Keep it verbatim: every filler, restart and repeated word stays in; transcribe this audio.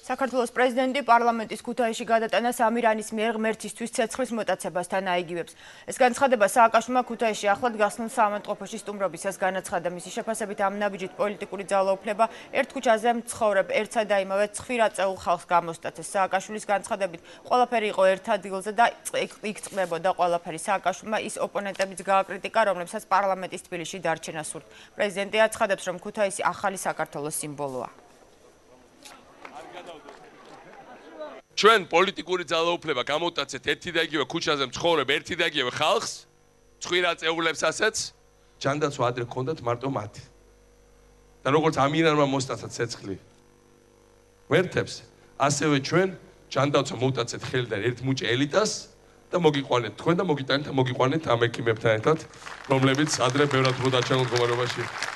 საქართველოს პრეზიდენტი პარლამენტის ქუთაისში გადატანას ამირანის მიერ ღმერთისთვის ცეცხლის მოტაცებასთან აიგივებს. ეს განცხადება სააკაშვილმა ქუთაისში ახლად გახსნილ საავადმყოფოში სტუმრობისას განაცხადა. მისი შეფასებით ამ ნაბიჯით პოლიტიკური ძალაუფლება ერთ ქუჩაზე მცხოვრებ ერთსა და იმავე ცხვირ აწეულ ხალხს გამოსტაცეს. სააკაშვილის განცხადებით ყველაფერი იყო ერთ ადგილზე და იქ წყდებოდა ყველაფერი. სააკაშვილმა ის ოპონენტებიც გააკრიტიკა, რომლებსაც პარლამენტის თბილისში დარჩენა სურთ. პრეზიდენტი აცხადებს, რომ ქუთაისი ახალი საქართველოს სიმბოლოა. ჩვენ პოლიტიკური ძალაუფლება გამოვტაცეთ ერთი და იგივე ქუჩაზე მცხოვრებ ერთი და იგივე ხალხს, ცხვირ აწეულებს ასეც, ჯანდაცვა ადრე ჰქონდათ მარტო მათი. და როგორც ამირანმა მოსტაცა ცეცხლი ღმერთებს, ასევე ჩვენ ჯანდაცვა მოვტაცეთ ხელიდან ერთ მუჭე ელიტას და მოგიყვანეთ თქვენ და მოგიტანეთ და მოგიყვანეთ ამ ექიმებთან ერთად, რომლებიც ადრე ბევრად უფრო დაჩაგონ მდგომარეობაში